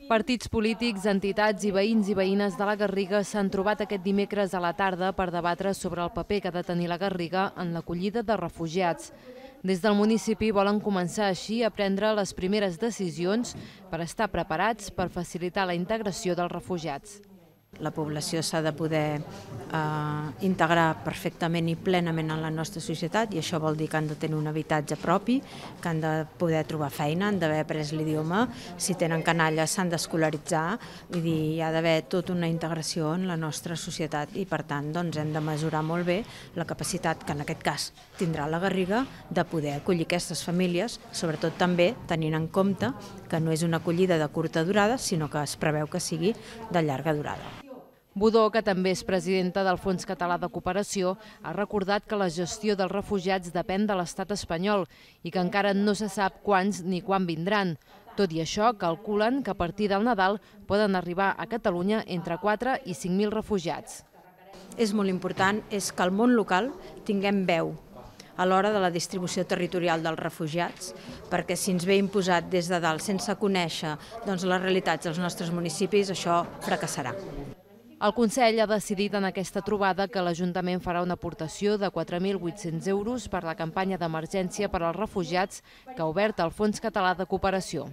Partits polítics, entitats i veïns i veïnes de la Garriga s'han trobat aquest dimecres a la tarda per debatre sobre el paper que ha de tenir la Garriga en l'acollida de refugiats. Des del municipi volen començar així a prendre les primeres decisions per estar preparats per facilitar la integració dels refugiats. La població s'ha de poder integrar perfectament i plenament en la nostra societat i això vol dir que han de tenir un habitatge propi, que han de poder trobar feina, han d'haver après l'idioma, si tenen canalla s'han d'escolaritzar, vull dir, hi ha d'haver tota una integració en la nostra societat i per tant doncs, hem de mesurar molt bé la capacitat que en aquest cas tindrà la Garriga de poder acollir aquestes famílies, sobretot també tenint en compte que no és una acollida de curta durada, sinó que es preveu que sigui de llarga durada. Budó, que també és presidenta del Fons Català de Cooperació, ha recordat que la gestió dels refugiats depèn de l'estat espanyol i que encara no se sap quants ni quan vindran. Tot i això, calculen que a partir del Nadal poden arribar a Catalunya entre 4 i 5.000 refugiats. És molt important és que al món local tinguem veu a l'hora de la distribució territorial dels refugiats, perquè si ens ve imposat des de dalt sense conèixer les realitats dels nostres municipis, això fracassarà. El Consell ha decidit en aquesta trobada que l'Ajuntament farà una aportació de 4.800 euros per la campanya d'emergència per als refugiats que ha obert el Fons Català de Cooperació.